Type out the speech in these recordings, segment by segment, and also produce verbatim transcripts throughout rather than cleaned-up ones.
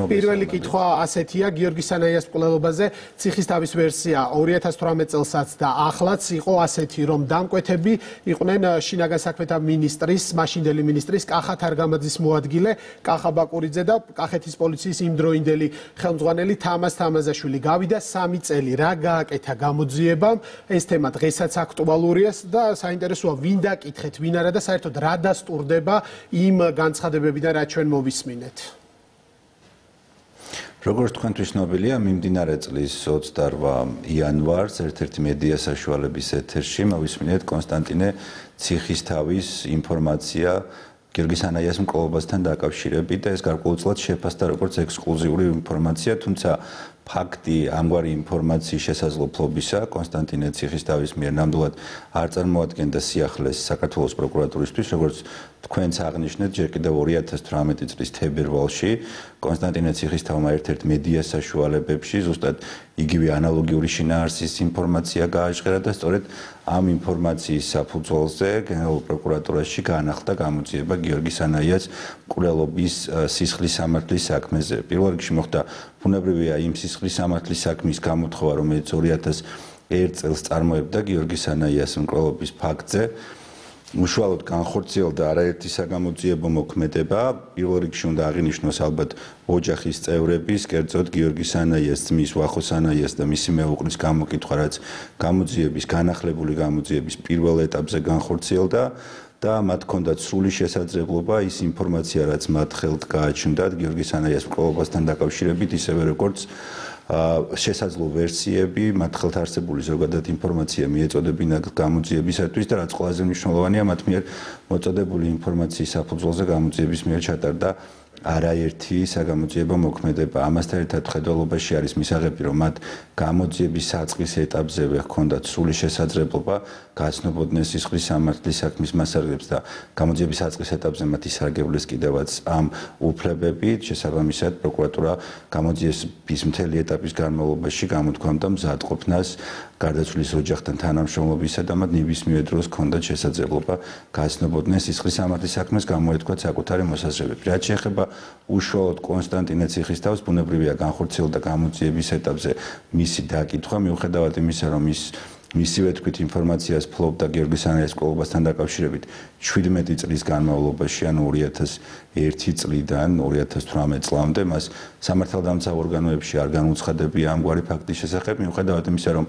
პირველი კითხვა ასეთია, გიორგი სანაიას მკვლელობაზე ციხისთავის ვერსია ორი ათას თვრამეტ წელსაც და ახლაც იყო ასეთი, რომ დამკვეთები იყვნენ შინაგან საქმეთა მინისტრის, მაშინდელი მინისტრის კახა თარგამაძის მოადგილე, კახა ბაკურიძე და კახეთის პოლიციის იმდროინდელი ხელმძღვანელი თამაზ თამაზაშვილი. გავიდა სამი წელი, რა გააკეთა გამოძიებამ, ეს თემა დღესაც აქტუალურია და საინტერესოა ვინ დაკითხეთ, ვინ არა და საერთოდ რა დასტურდება იმ განცხადებებიდან, რაც ჩვენ მოვისმინეთ. როგორც თქვენთვის ცნობილია, მიმდინარე წლის ოცდაორ იანვარს ერთ-ერთი მედია საშუალების ეთერში მოვისმინეთ კონსტანტინე ციხისთავის ინფორმაცია გიორგი სანაიას მკვლელობასთან დაკავშირებით და ეს გარკვეულწილად შეფასდა როგორც ექსკლუზიური ინფორმაცია, თუმცა ფაქტი ამგვარი ინფორმაციის შესაძლებლობისა კონსტანტინე ციხისთავის მიერ ნამდვილად არ წარმოადგენდა სიახლეს საქართველოს პროკურატურისთვის, როგორც თქვენც აღნიშნეთ, ჯერ კიდევ ორი ათას თვრამეტი წლის თებერვალში კონსტანტინე ციხისთავმა ერთ-ერთ მედია საშუალებებში ზუსტად იგივე ანალოგიური შინაარსის ინფორმაცია გააჟღერა და სწორედ ამ ინფორმაციის საფუძველზე გენერალურ პროკურატურაში გაანახდა გამოძიება გიორგი სანაიას მკვლელობის სისხლის სამართლის საქმეზე. პირველ რიგში მოხდა ბუნებრივია იმ სისხლის სამართლის საქმის გამოთხოვა, რომელიც ორი ათას ერთ წელს წარმოებდა გიორგი სანაიას მკვლელობის ფაქტზე. უშუალოდ განხორციელდა არაერთი საგამოძიებო მოქმედება. პირველ რიგში უნდა აღინიშნოს ალბათ ოჯახის წევრების, კერძოდ გიორგი სანაიას ძმის ვახო სანაიას და მისი მეუღლის გამოკითხვა, რაც გამოძიების განახლებული გამოძიების პირველ ეტაპზე განხორციელდა და მათ ჰქონდათ სრული შესაძლებლობა ის ინფორმაცია, რაც მათ ხელთ გააჩნდათ გიორგი სანაიას მკვლელობასთან დაკავშირებით, ისევე როგორც შესაძლო ვერსიები, მათ ხელთ არსებული ზოგადად ინფორმაცია მიეწოდებინათ გამოძიებისათვის და რაც ყველაზე მნიშვნელოვანია, მათ მიერ მოწოდებული ინფორმაციის საფუძველზე გამოძიების მიერ ჩატარდა არაერთი საგამოძიებო მოქმედება. ამასთან ერთად ხედველობაში არის მისაღები, რომ მათ გამოძიების საწყის ეტაპზევე ჰქონდათ სრული შესაძლებლობა გაცნობოდნენ სისხლის სამართლის საქმის მასალებს და გამოძიების საწყის ეტაპზე მათ ისარგებლეს კიდევაც ამ უფლებებით. შესაბამისად, პროკურატურა გამოძიების მთელი ეტაპის განმავლობაში გამოთქვამდა მზადყოფნას გარდაცვლილის ოჯახთან თანამშრომლობისა და მათ ნებისმიერ დროს ჰქონდათ შესაძლებლობა გაცნობოდნენ სისხლის სამართლის საქმეს გამოეთქვათ საკუთარი მოსაზრებები. რაც შეეხება უშუალოდ კონსტანტინე ციხისთავს, ბუნებრივია განხორციელდა გამოძიების ეტაპზე მისი დაკითხვა, მიუხედავად იმისა, რომ ის მისივე თქვით ინფორმაციას ფლობდა გიორგი სანაიას მკვლელობასთან დაკავშირებით შვიდმეტი წლის განმავლობაში, ანუ ორი ათას ერთი წლიდან ორი ათას თვრამეტ წლამდე მას სამართალდამცავ ორგანოებში არ განუცხადებია ამგვარი ფაქტის შესახებ, მიუხედავად იმისა, რომ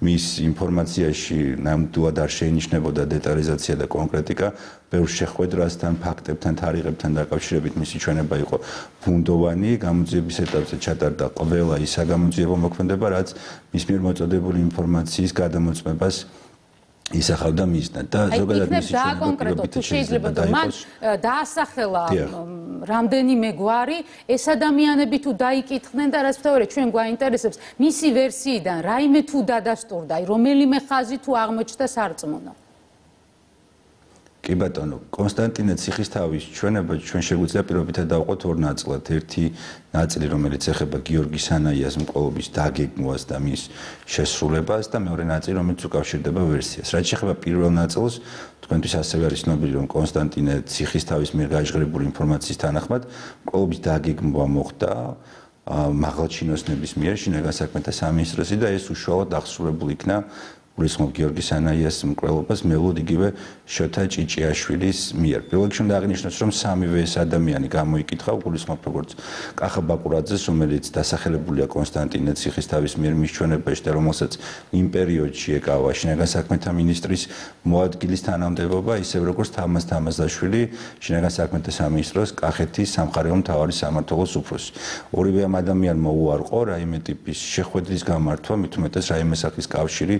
მის ინფორმაციაში ნამდვილად არ შეინიშნებოდა დეტალიზაცია და კონკრეტიკა, ბევრ შეხვედრასთან, ფაქტებთან, თარიღებთან დაკავშირებით მისი ჩვენება იყო ბუნდოვანი. გამოძიების ეტაპზე ჩატარდა ყველა ის საგამოძიებო მოქმედება, რაც მის მიერ მოწოდებული ინფორმაციის გადამოწმებას ისახავდა მისდან და ზოგადად მისი კონკრეტო თუ შეიძლება და მან დაასახელა რამდენიმე გვარი ეს ადამიანები თუ დაიკითხნენ და რაც ვთქვი ჩვენ გვაინტერესებს მისი ვერსიიდან რაიმე თუ დადასტურდა რომელიმე ხაზი თუ აღმოჩნდა სარწმუნო. კი ბატონო, კონსტანტინე ციხისთავის ჩვენება ჩვენ შეგვიძლია პირობითად დავყოთ ორ ნაწილად. ერთი ნაწილი, რომელიც ეხება გიორგი სანაიას მკვლელობის დაგეგმვას და მის შესრულებას და მეორე ნაწილი, რომელიც უკავშირდება ვერსიას. რაც შეეხება პირველ ნაწილს, თქვენთვის ასევე არის ცნობილი, რომ კონსტანტინე ციხისთავის მიერ გაჟღერებული ინფორმაციის თანახმად მკვლელობის დაგეგმვა მოხდა მაღალჩინოსნების მიერ შინაგან საქმეთა სამინისტროსი და ეს უშუალოდ აღსრულებულ იქნა გულისხმობ გიორგი სანაიას მკვლელობას მევლოდ იგივე შოთა ჭიჭიაშვილის მიერ. პირველ რიგში უნდა აღინიშნოს, რომ სამივე ეს ადამიანი გამოიკითხა გულისხმობ როგორც კახა ბაკურაძეს, რომელიც დასახელებულია კონსტანტინე ციხისთავის მიერ მის ჩვენებაში და რომელსაც იმ პერიოდში ეკავა შინაგან საქმეთა მინისტრის მოადგილის თანამდებობა, ისევ როგორც თამაზ თამაზაშვილი შინაგან საქმეთა სამინისტროს კახეთის სამხარეო მთავარი სამმართველოს უფროსი. ორივე ამ ადამიანმა უარყო რაიმე ტიპის შეხვედრის გამართვა, მით უმეტეს რაიმე სახის კავშირი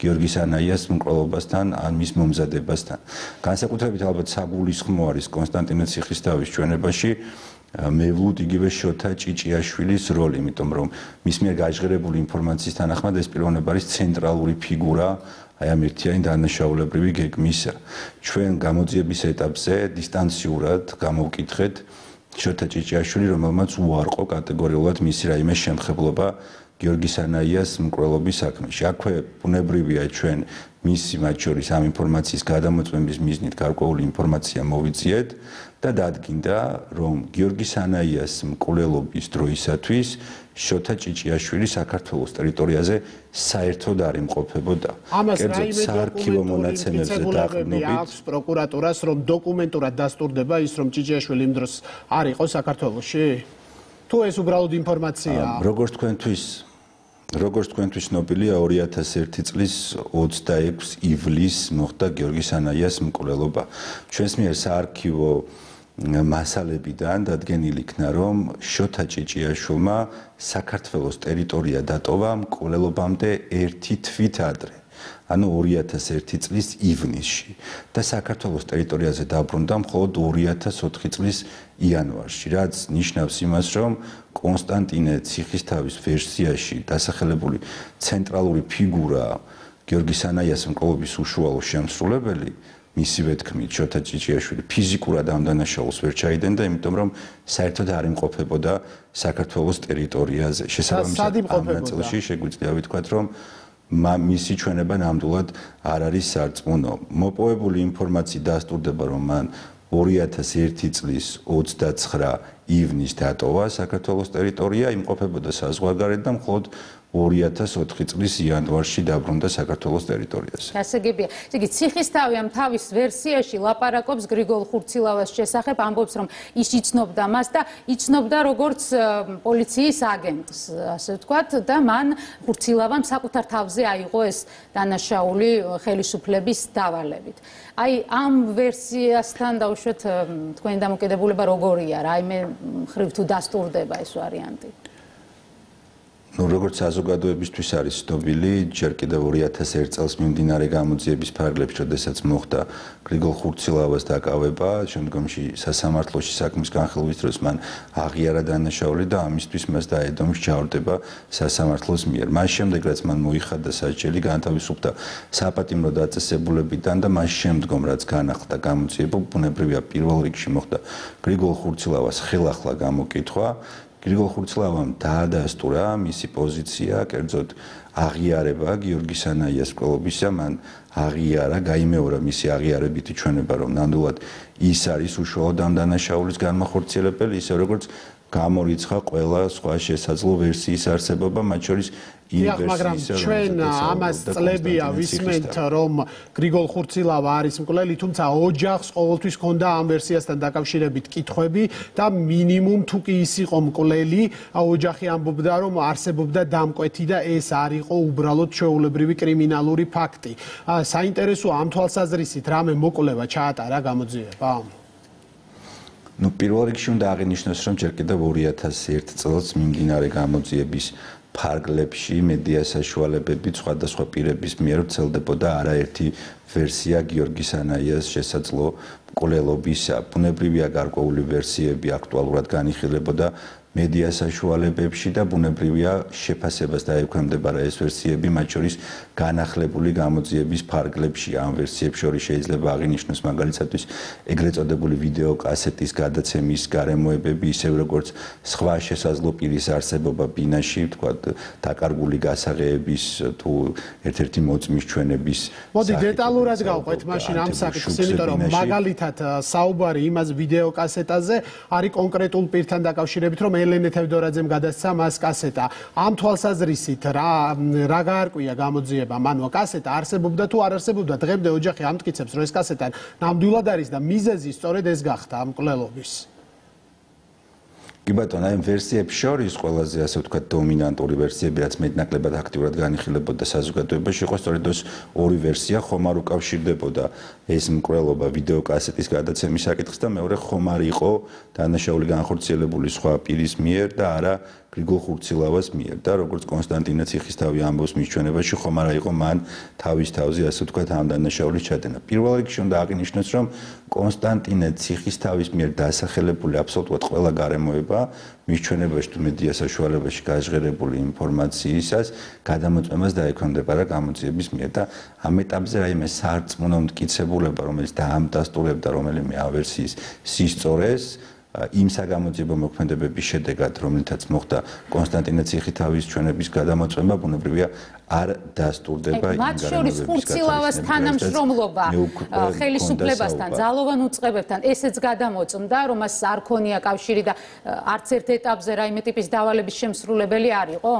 გიორგი სანაიას მკვლელობასთან ან მის მომზადებასთან. განსაკუთრებით ალბათ საგულისხმო არის კონსტანტინე ციხისთავის ჩვენებაში მევლოდ იგივე შოთა ჭიჭიაშვილის როლი, იმიტომ რომ მის მიერ გაჟღერებული ინფორმაციის თანახმად ეს პიროვნება არის ცენტრალური ფიგურა აი ამ ერთიანი დანაშაულებრივი გეგმისა. ჩვენ გამოძიების ეტაპზე დისტანციურად გამოვკითხეთ შოთა ჭიჭიაშვილი, რომელმაც უარყო კატეგორიულად მისი რაიმე შემხებლობა გიორგი სანაიას მკვლელობის საქმეში. აქვე ბუნებრივია ჩვენ მისი მათ შორის ამ ინფორმაციის გადამოწმების მიზნით გარკვეული ინფორმაცია მოვიძიეთ და დადგინდა, რომ გიორგი სანაიას მკვლელობის დროისათვის შოთა ჭიჭიაშვილი საქართველოს ტერიტორიაზე საერთოდ არ იმყოფებოდა. კერძოდ საარქივო მონაცემებზე დაყრდნობით აქვს პროკურატურას, რომ დოკუმენტურად დასტურდება ის, რომ ჭიჭიაშვილი იმ დროს არ იყო საქართველოში? თუ ეს უბრალოდ ინფორმაციაა? როგორც თქვენთვის როგორც თქვენთვის ცნობილია, ორი ათას ერთი წლის ოცდაექვსი ივლისს მოხდა გიორგი სანაიას მკვლელობა. ჩვენს მიერ საარქივო მასალებიდან დადგენილი იქნა, რომ შოთა ჭიჭიაშვილმა საქართველოს ტერიტორია დატოვა მკვლელობამდე ერთი თვით ადრე. ანუ ორი ათას ერთი წლის ივნისში და საქართველოს ტერიტორიაზე დაბრუნდა მხოლოდ ორი ათას ოთხი წლის იანვარში, რაც ნიშნავს იმას, რომ კონსტანტინე ციხისთავის ვერსიაში დასახელებული ცენტრალური ფიგურა გიორგი სანაიას მკვლელობის უშუალო შემსრულებელი მისივე თქმით შოთა ჭიჭიაშვილი ფიზიკურად ამ დანაშაულს ვერ ჩაიდენდა, იმიტომ რომ საერთოდ არ იმყოფებოდა საქართველოს ტერიტორიაზე. შესაბამისად ამ ნაწილში შეგვიძლია ვთქვათ, რომ მისი ჩვენება ნამდვილად არ არის სარწმუნო. მოპოვებული ინფორმაციით დასტურდება, რომ მან ორი ათას ერთი წლის ოცდაცხრა ივნისს დატოვა საქართველოს ტერიტორია, იმყოფებოდა საზღვარგარეთ და მხოლოდ ორი ათას ოთხი წლის იანვარში დაბრუნდა საქართველოს ტერიტორიაზე. გასაგებია. ესე იგი, ციხისთავი ამ თავის ვერსიაში ლაპარაკობს გრიგოლ ხურცილავას შესახებ, ამბობს, რომ ის იცნობდა მას და იცნობდა როგორც პოლიციის აგენტს, ასე ვთქვათ, და მან ხურცილავამ საკუთარ თავზე აიღო ეს დანაშაული ხელისუფლების დავალებით. აი, ამ ვერსიასთან დავუშვათ თქვენი დამოკიდებულება როგორია, რაიმე მხრივ თუ დასტურდება ეს ვარიანტი? ნუ როგორც საზოგადოებისთვის არის ცნობილი, ჯერ კიდევ ორი ათას ერთი წელს მიმდინარე გამოძიების ფარგლებში, როდესაც მოხდა გრიგოლ ხურცილავას დაკავება, შემდგომში სასამართლოში საქმის განხილვის დროს მან აღიარა დანაშაული და ამისთვის მას დაედო მსჯავრდება სასამართლოს მიერ. მას შემდეგ, რაც მან მოიხადა სასჯელი, განთავისუფლდა საპატიმრო დაწესებულებიდან და მას შემდგომ, რაც განახლდა გამოძიება, ბუნებრივია პირველ რიგში მოხდა გრიგოლ ხურცილავას ხელახლა გამოკითხვა. გრიგოლ ხურცილავამ დაადასტურა მისი პოზიცია, კერძოდ აღიარება გიორგი სანაიას მკვლელობისა, მან აღიარა, გაიმეორა მისი აღიარებითი ჩვენება, რომ ნამდვილად ის არის უშუალოდ ამ დანაშაულის განმახორციელებელი, ისე როგორც გამორიცხა ყველა სხვა შესაძლო ვერსიის არსებობა, მათ შორის დიახ, მაგრამ ჩვენ ამას წლებია ვისმენთ, რომ გრიგოლ ხურცილავა არის მკვლელი, თუმცა ოჯახს ყოველთვის ჰქონდა ამ ვერსიასთან დაკავშირებით კითხვები და მინიმუმ თუ კი ის იყო მკვლელი, ოჯახი ამბობდა, რომ არსებობდა დამკვეთი და ეს არ იყო უბრალოდ ჩვეულებრივი კრიმინალური ფაქტი. საინტერესოა ამ თვალსაზრისით რამე მოკვლევა ჩაატარა გამოძიება? ნუ პირველ რიგში უნდა აღინიშნოს, რომ ჯერ კიდევ ორი ათას ერთი წელს მიმდინარე გამოძიების ფარგლებში მედია საშუალებებით სხვადასხვა პირების მიერ ვრცელდებოდა არაერთი ვერსია გიორგი სანაიას შესაძლო მკვლელობისა. ბუნებრივია გარკვეული ვერსიები აქტუალურად განიხილებოდა მედია საშუალებებში და ბუნებრივია შეფასებას დაექვემდებარა ეს ვერსიები, მათ შორის განახლებული გამოძიების ფარგლებში. ამ ვერსიებს შორის შეიძლება აღინიშნოს მაგალითად ეგრეთ წოდებული ვიდეო კასეტის გადაცემის გარემოებები, ისევ როგორც სხვა შესაძლო პირის არსებობა ბინაში, ვთქვათ, დაკარგული გასაღებების თუ ერთ-ერთი მოწმის ჩვენების. მოდი დეტალურად გავყვეთ მაშინ ამ საკითხს, იმიტომ რომ მაგალითად საუბარი იმას ვიდეო კასეტაზე არის კონკრეტულ პირთან დაკავშირებით, რომ ელენე თევდორაძემ გადასცა მას კასეტა. ამ თვალსაზრისით რა რა გაარკვია გამოძიება? მანო კასეტა არსებობდა თუ არ არსებობდა? დღემდე ოჯახი ამტკიცებს, რომ ეს კასეტა ნამდვილად არის და მიზეზი სწორედ ეს გახდა ამ მკვლელობის. კი ბატონო, აი ვერსიებს შორის ყველაზე ასე ვთქვათ დომინანტური ვერსიები, რაც მეტნაკლებად აქტიურად განიხილებოდა საზოგადოებაში, იყო სწორედ ეს ორი ვერსია, ხომ არ უკავშირდებოდა ეს მკვლელობა ვიდეო კასეტის გადაცემის საკითხს და მეორე ხომ არ იყო დანაშაული განხორციელებული სხვა პირის მიერ და არა გრიგოლ ხურცილავას მიერ და როგორც კონსტანტინე ციხისთავი ამბობს მის ჩვენებაში, ხომ არა იყო მან თავის თავზე ასე ვთქვათ ამ დანაშაულის ჩადენა. პირველ რიგში უნდა აღინიშნოს, რომ კონსტანტინე ციხისთავის მიერ დასახელებული აბსოლუტურად ყველა გარემოება მის ჩვენებაში თუ მედია საშუალებაში გაჟღერებული ინფორმაციისას გადამოწმებას დაექვემდებარა გამოძიების მიერ და ამ ეტაპზე რაიმე სარწმუნო მტკიცებულება, რომელიც დაამტასტურებდა რომელიმე ავერსიის სისწორეს, იმ საგამოძიებო მოქმედებების შედეგად, რომლითაც მოხდა კონსტანტინე ციხისთავის ჩვენების გადამოწმება, ბუნებრივია არ დასტურდება იმ მათ შორის ხურცილავას თანამშრომლობა ხელისუფლებასთან, ძალოვან უწყებებთან ესეც გადამოწმდა, რომ მას არ ქონია კავშირი და არც ერთ ეტაპზე რაიმე ტიპის დავალების შემსრულებელი არ იყო?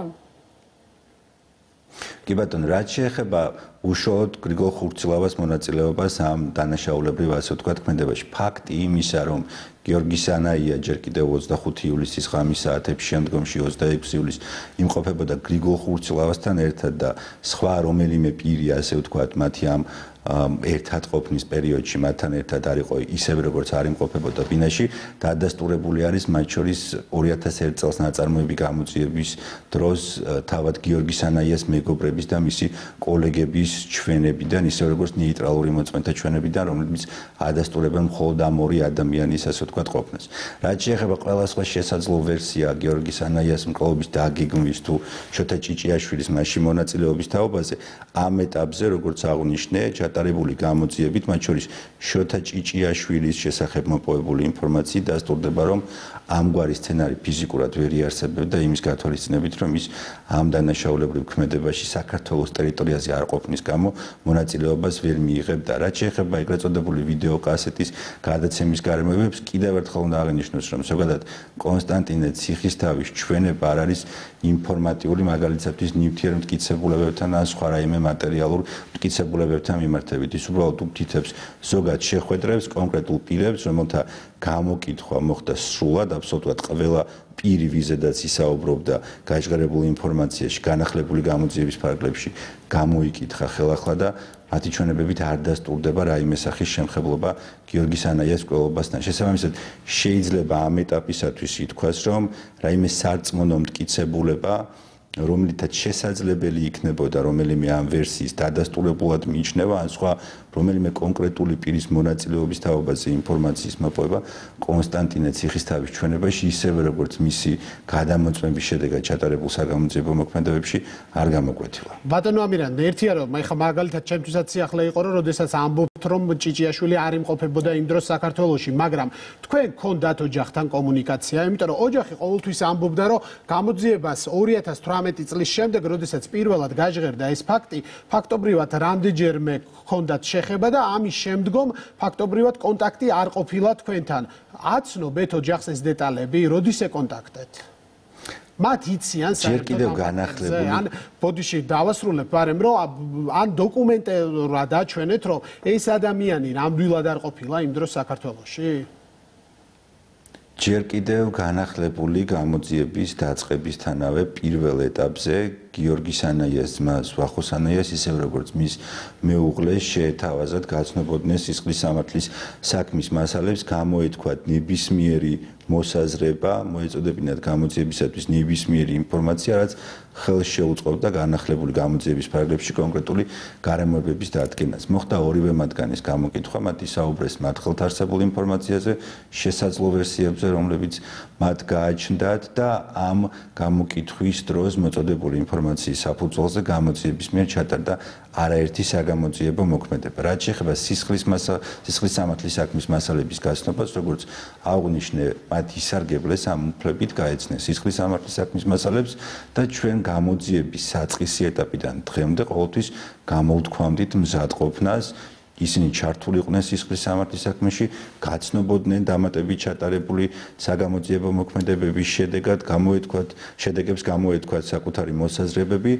კი ბატონო, რაც შეეხება უშუალოდ გრიგოლ ხურცილავას მონაწილეობას ამ დანაშაულებრივ ასე ვთქვათ ქმედებაში, ფაქტი იმისა, რომ გიორგი სანაია ჯერ კიდევ ოცდახუთი ივლისის ღამის საათებში, შემდგომში ოცდაექვსი ივლისს იმყოფებოდა გრიგოლ ხურცილავასთან ერთად და სხვა რომელიმე პირი ასე ვთქვათ მათი ამ ერთად ყოფნის პერიოდში მათთან ერთად არ იყო ისევე როგორც არ იმყოფებოდა ბინაში, დადასტურებული არის მათ შორის ორი ათას ერთ წელს ნაწარმოები გამოძიების დროს თავად გიორგი სანაიას მეგობრების და მისი კოლეგების ჩვენებიდან, ისევე როგორც ნეიტრალური მოწმეთა ჩვენებიდან, რომლებიც ადასტურებენ მხოლოდ ამ ორი ადამიანის ასე ვთქვათ ყოფნას. რაც შეეხება ყველა სხვა შესაძლო ვერსია გიორგი სანაიას მკვლელობის დაგეგმვის თუ შოთა ჭიჭიაშვილის მასში მონაწილეობის თაობაზე, ამ ეტაპზე როგორც აღნიშნე, ჩატარებული გამოძიებით, მათ შორის შოთა ჭიჭიაშვილის შესახებ მოპოვებული ინფორმაციით დასტურდება, რომ ამგვარი სცენარი ფიზიკურად ვერ იარსებებდა იმის გათვალისწინებით, რომ ის ამ დანაშაულებრივ ქმედებაში საქართველოს ტერიტორიაზე არ ყოფნის გამო მონაწილეობას ვერ მიიღებდა. რაც შეეხება ეგრეთ წოდებული ვიდეოკასეტის გადაცემის გარემოებებს, კიდევ ერთხელ უნდა აღინიშნოს, რომ ზოგადად კონსტანტინე ციხისთავის ჩვენება არ არის ინფორმატიული, მაგალითად ნივთიერ მტკიცებულებებთან ან სხვა რაიმე მატერიალურ მტკიცებულებებთან მიმართებით. ის უბრალოდ უთითებს ზოგად შეხვედრებს კონკრეტულ პირებს, რომელთა გამოკითხვა მოხდა სრულად, აბსოლუტურად ყველა პირი ვიზედაც ისაუბრობდა გაჟღერებულ ინფორმაციაში, განახლებული გამოძიების ფარგლებში გამოიკითხა ხელახლა და მათი ჩვენებებით არ დასტურდება რაიმე სახის შემხებლობა გიორგი სანაიას მკვლელობასთან. შესაბამისად, შეიძლება ამ ეტაპისათვის ითქვას, რომ რაიმე სარწმუნო მტკიცებულება, რომლითაც შესაძლებელი იქნებოდა რომელიმე ამ ვერსიის დადასტურებულად მიიჩნევა, ან სხვა რომელიმე კონკრეტული პირის მონაწილეობის თაობაზე ინფორმაციის მოპოვება კონსტანტინე ციხისთავის ჩვენებაში, ისევე როგორც მისი გადამოწმების შედეგად ჩატარებულ საგამოძიებო მოქმედებებში არ გამოკვეთილა. ბატონო ამირან, ერთია რომ ეხლა მაგალითად ჩემთვისაც სიახლე იყო, რომ როდესაც ამბობთ, რომ ჭიჭიაშვილი არ იმყოფებოდა იმ დროს საქართველოში, მაგრამ თქვენ გქონდათ ოჯახთან კომუნიკაცია, იმიტომ რომ ოჯახი ყოველთვის ამბობდა, რომ გამოძიებას ორი ათას თვრამეტი წლის შემდეგ, როდესაც პირველად გაჟღერდა ეს ფაქტი, ფაქტობრივად რამდენჯერმე გქონდათ შეხება და ამის შემდგომ ფაქტობრივად კონტაქტი არ ყოფილა თქვენთან. აცნობთ ოჯახს ეს დეტალები, როდის ეკონტაქტეთ? მათ იციან ჯერ კიდევ განახლებული. ან ბოდიში დავასრულებ, მაგრამ რომ ან დოკუმენტურად აჩვენეთ, რომ ეს ადამიანი ნამდვილად არ ყოფილა იმ დროს საქართველოში? ჯერ კიდევ განახლებული გამოძიების დაწყებისთანავე პირველ ეტაპზე გიორგი სანაიას ძმა ვახო სანაიას ისევ როგორც მის მეუღლეს შეეთავაზათ გაცნობოდნენ სისხლის სამართლის საქმის მასალებს, გამოეთქვათ ნებისმიერი მოსაზრება, მოეწოდებინათ გამოძიებისათვის ნებისმიერი ინფორმაცია, რაც ხელს შეუწყობდა განახლებული გამოძიების ფარგლებში კონკრეტული გარემოებების დადგენას. მოხდა ორივე მათგანის გამოკითხვა, მათ ისაუბრეს მათ ხელთ არსებულ ინფორმაციაზე, შესაძლო ვერსიებზე, რომლებიც მათ გააჩნდათ და ამ გამოკითხვის დროს მოწოდებული ინფორმაციის საფუძველზე გამოძიების მიერ ჩატარდა არაერთი საგამოძიებო მოქმედება. რაც შეეხება სისხლის სისხლის სამართლის საქმის მასალების გაცნობას, როგორც აღნიშნე, მათ ისარგებლეს ამ უფლებით გაეცნეს სისხლის სამართლის საქმის მასალებს და ჩვენ გამოძიების საწყისი ეტაპიდან დღემდე ყოველთვის გამოვთქვამდით მზადყოფნას. ისინი ჩართული იყვნენ სისხლის სამართლის საქმეში, გაცნობოდნენ დამატებით ჩატარებული საგამოძიებო მოქმედებების შედეგად, გამოეთქვათ შედეგებს გამოეთქვათ საკუთარი მოსაზრებები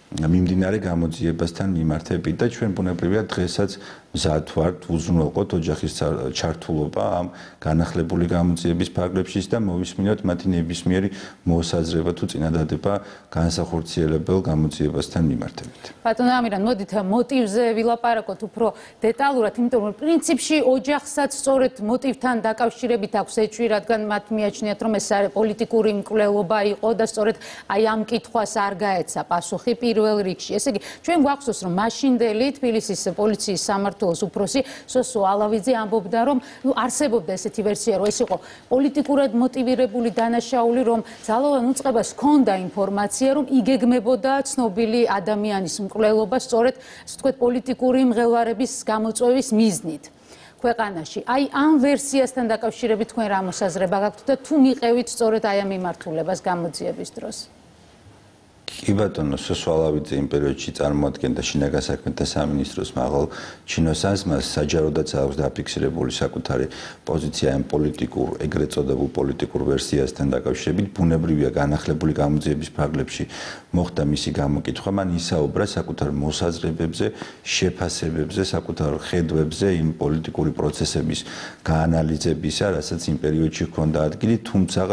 მიმდინარე გამოძიებასთან მიმართებით და ჩვენ ბუნებრივია დღესაც მზად ვართ უზრუნველყოთ ოჯახის ჩართულობა ამ განახლებული გამოძიების ფარგლებში და მოვისმინოთ მათი ნებისმიერი მოსაზრება თუ წინადადება განსახორციელებელ გამოძიებასთან მიმართებით. ბატონო ამირან, მოდით მოტივზე ვილაპარაკოთ უფრო დეტალურად, იმიტომ რომ პრინციპში ოჯახსაც სწორედ მოტივთან დაკავშირებით აქვს ეჭვი, რადგან მათ მიაჩნიათ, რომ ეს პოლიტიკური მკვლელობა იყო და სწორედ აი ამ კითხვას არ გაეცა პასუხი პირველ რიგში. ესე იგი, ჩვენ გვახსოვს, რომ მაშინდელი თბილისის პოლიციის სამმართველოს უფროსი სოსო ალავიძე ამბობდა, რომ ნუ არსებობდა ესეთი ვერსია, რომ ეს იყო პოლიტიკურად მოტივირებული დანაშაული, რომ ძალოვან უწყებას ჰქონდა ინფორმაცია, რომ იგეგმებოდა ცნობილი ადამიანის მკვლელობა სწორედ, ასე ვთქვათ, პოლიტიკური მღელვარების გამოწვევის მიზნით. ქვეყანაში. აი ამ ვერსიასთან დაკავშირებით თქვენ რა მოსაზრება გაქვთ და თუ მიყევით სწორედ აი ამ მიმართულებას გამოძიების დროს? კი ბატონო, სოსვალავიძე იმ პერიოდში წარმოადგენდა შინაგან საქმეთა სამინისტროს მაღალ ჩინოსანს, მას საჯაროდაც აქვს დაფიქსირებული საკუთარი პოზიცია ამ პოლიტიკურ, ეგრეთ წოდებულ პოლიტიკურ ვერსიასთან დაკავშირებით. ბუნებრივია განახლებული გამოძიების ფარგლებში მოხდა მისი გამოკითხვა, მან ისაუბრა საკუთარ მოსაზრებებზე, შეფასებებზე, საკუთარ ხედვებზე იმ პოლიტიკური პროცესების გაანალიზებისა, რასაც იმ პერიოდში ჰქონდა ადგილი, თუმცა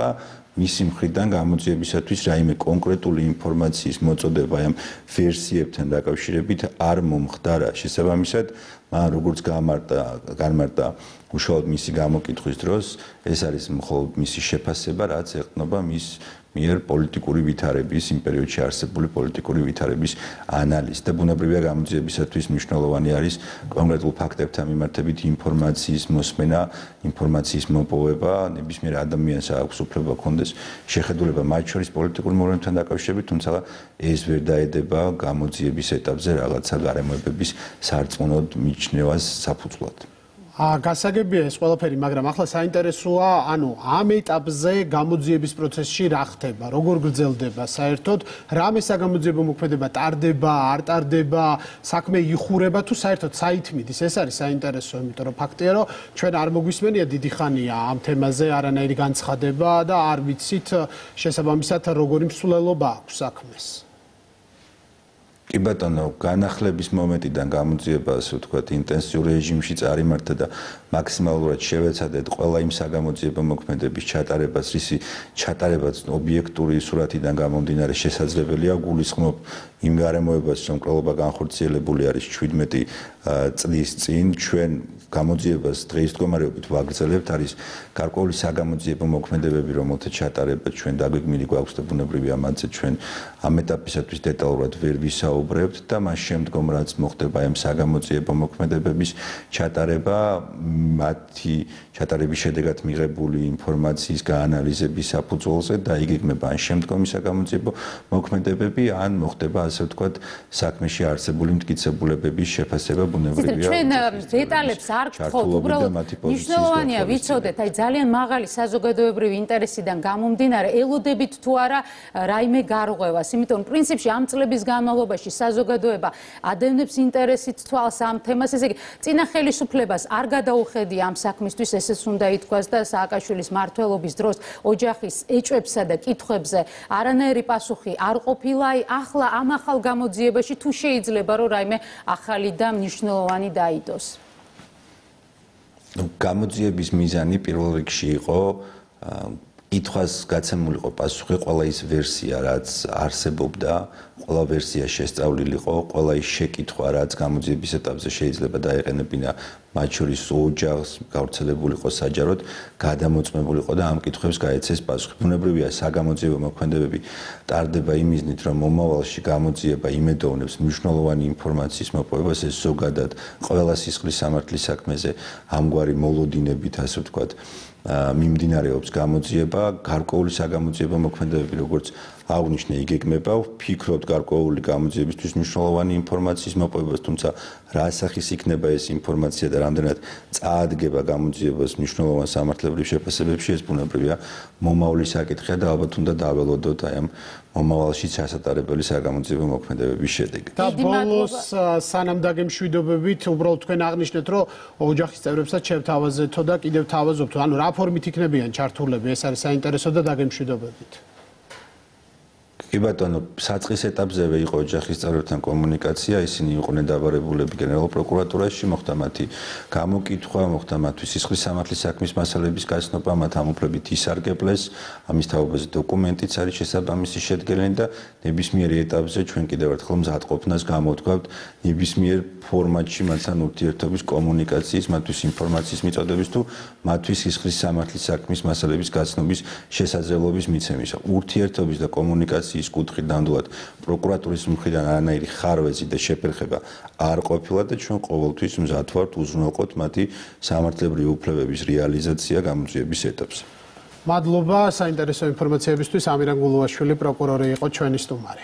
მისი მხრიდან გამოძიებისათვის რაიმე კონკრეტული ინფორმაციის მოწოდება ამ ვერსიებთან დაკავშირებით არ მომხდარა. შესაბამისად, მან როგორც გამარტა, განმარტა უშუალოდ მისი გამოკითხვის დროს, ეს არის მხოლოდ მისი შეფასება, რაც ეყრდნობა მის მიერ პოლიტიკური ვითარების, იმ პერიოდში არსებული პოლიტიკური ვითარების ანალიზს და ბუნებრივია გამოძიებისათვის მნიშვნელოვანი არის კონკრეტულ ფაქტებთან მიმართებით ინფორმაციის მოსმენა, ინფორმაციის მოპოვება, ნებისმიერ ადამიანს აქვს უფლება ჰქონდეს შეხედულება მათ შორის პოლიტიკურ მოვლენებთან დაკავშირებით, თუმცა ეს ვერ დაედება გამოძიების ეტაპზე რაღაცა გარემოებების სარწმუნოდ მიჩნევას საფუძვლად. გასაგებია ეს ყველაფერი, მაგრამ ახლა საინტერესოა, ანუ ამ ეტაპზე გამოძიების პროცესში რა ხდება, როგორ გრძელდება საერთოდ, რამე საგამოძიებო მოქმედება ტარდება, არ ტარდება, საქმე იხურება თუ საერთოდ საით მიდის, ეს არის საინტერესო, იმიტომ რომ ფაქტია, რომ ჩვენ არ მოგვისმენია დიდი ხანია ამ თემაზე არანაირი განცხადება და არ ვიცით შესაბამისად როგორი მსვლელობა აქვს საქმეს. კი ბატონო, განახლების მომენტიდან გამოძიება, ასე ვთქვათ, ინტენსიურ რეჟიმში წარიმართა და მაქსიმალურად შევეცადეთ ყველა იმ საგამოძიებო მოქმედების ჩატარებას, რისი ჩატარებაც ობიექტური სურათიდან გამომდინარე შესაძლებელია, გულისხმობ იმ გარემოებას, რომ მკვლელობა განხორციელებული არის ჩვიდმეტი წლის წინ, ჩვენ გამოძიებას დღის მდგომარეობით ვაგრძელებთ, არის გარკვეული საგამოძიებო მოქმედებები, რომელთა ჩატარება ჩვენ დაგვიგმილი გვაქვს და ბუნებრივია მათზე ჩვენ ამ ეტაპისათვის დეტალურად ვერ ვისაუბრებთ და მას შემდგომ რაც მოხდება ამ საგამოძიებო მოქმედებების ჩატარება, მათი ჩატარების შედეგად მიღებული ინფორმაციის გაანალიზების საფუძველზე და იგეგმება ან შემდგომი საგამოძიებო მოქმედებები, ან მოხდება ასე ვთქვათ საქმეში არსებული მტკიცებულებების შეფასება ბუნებრივია. ჩვენ დეტალებს არ გთხოვთ, უბრალოდ მნიშვნელოვანია ვიცოდეთ, აი ძალიან მაღალი საზოგადოებრივი ინტერესიდან გამომდინარე, ელოდებით თუ არა რაიმე გარღვევას, იმიტომ რომ პრინციპში ამ წლების განმავლობაში საზოგადოება ადევნებს ინტერესით თვალს ამ თემას, ესე იგი წინა ხელისუფლებას არ გადაუხედია ამ საქმისთვის, ესეც უნდა ითქვას და სააკაშვილის მმართველობის დროს ოჯახის ეჭვებსა და კითხვებზე არანაირი პასუხი არ ყოფილა, აი ახლა ამ ახალ გამოძიებაში თუ შეიძლება რომ რაიმე ახალი და მნიშვნელოვანი დაიდოს. გამოძიების მიზანი პირველ რიგში იყო კითხვას გაცემულიყო პასუხი ყველა ის ვერსია, რაც არსებობდა, ყველა ვერსია შესწავლილიყო, ყველა ის შეკითხვა, რაც გამოძიების ეტაპზე შეიძლება დაეყენებინა მათ შორის ოჯახს, გავრცელებულიყო საჯაროდ, გადამოწმებულიყო და ამ კითხვებს გაეცეს პასუხი. ბუნებრივია საგამოძიებო მოქმედებები ტარდება იმ მიზნით, რომ მომავალში გამოძიება იმედოვნებს მნიშვნელოვანი ინფორმაციის მოპოვებას, ეს ზოგადად ყველა სისხლის სამართლის საქმეზე ამგვარი მოლოდინებით, ასე ვთქვათ, მიმდინარეობს გამოძიება, გარკვეული საგამოძიებო მოქმედებები, როგორც აღნიშნე, იგეგმება, ვფიქრობთ გარკვეული გამოძიებისთვის მნიშვნელოვანი ინფორმაციის მოპოვებას, თუმცა რა სახის იქნება ეს ინფორმაცია და რამდენად წაადგება გამოძიებას მნიშვნელოვან სამართლებრივ შეფასებებში, ეს ბუნებრივია მომავლის საკითხია და ალბათ უნდა დაველოდოთ აი ამ მომავალში ჩასატარებელი საგამოძიებო მოქმედებების შედეგი. და ბოლოს სანამ დაგემშვიდობებით, უბრალოდ თქვენ აღნიშნეთ, რომ ოჯახის წევრებსაც შევთავაზეთო და კიდევ თავაზობთ, ანუ რა ფორმით იქნებიან ჩართულები, ეს არის საინტერესო და დაგემშვიდობებით. კი ბატონო, საწყის ეტაპზევე იყო ოჯახის წევრებთან კომუნიკაცია, ისინი იყვნენ დაბარებულები გენერალურ პროკურატურაში, მოხდა მათი გამოკითხვა, მოხდა მათთვის სისხლის სამართლის საქმის მასალების გაცნობა, მათ ამ უფლებით ისარგებლეს, ამის თაობაზე დოკუმენტიც არის შესაბამისი შედგენილი და ნებისმიერ ეტაპზე ჩვენ კიდევ ერთხელ მზადყოფნას გამოვთქვავთ ნებისმიერ ფორმატში მათთან ურთიერთობის კომუნიკაციის, მათთვის ინფორმაციის მიწოდების თუ მათთვის სისხლის სამართლის საქმის მასალების გაცნობის შესაძლებლობის მიცემისა. ურთიერთობის და კომუნიკაციის კუთხით ნამდვილად პროკურატურის მხრიდან არანაირი ხარვეზი და შეფერხება არ ყოფილა და ჩვენ ყოველთვის მზად ვართ უზრუნველყოთ მათი სამართლებრივი უფლებების რეალიზაცია გამოძიების ეტაპზე. მადლობა საინტერესო ინფორმაციებისთვის. ამირან გულუაშვილი პროკურორი იყო ჩვენი სტუმარი.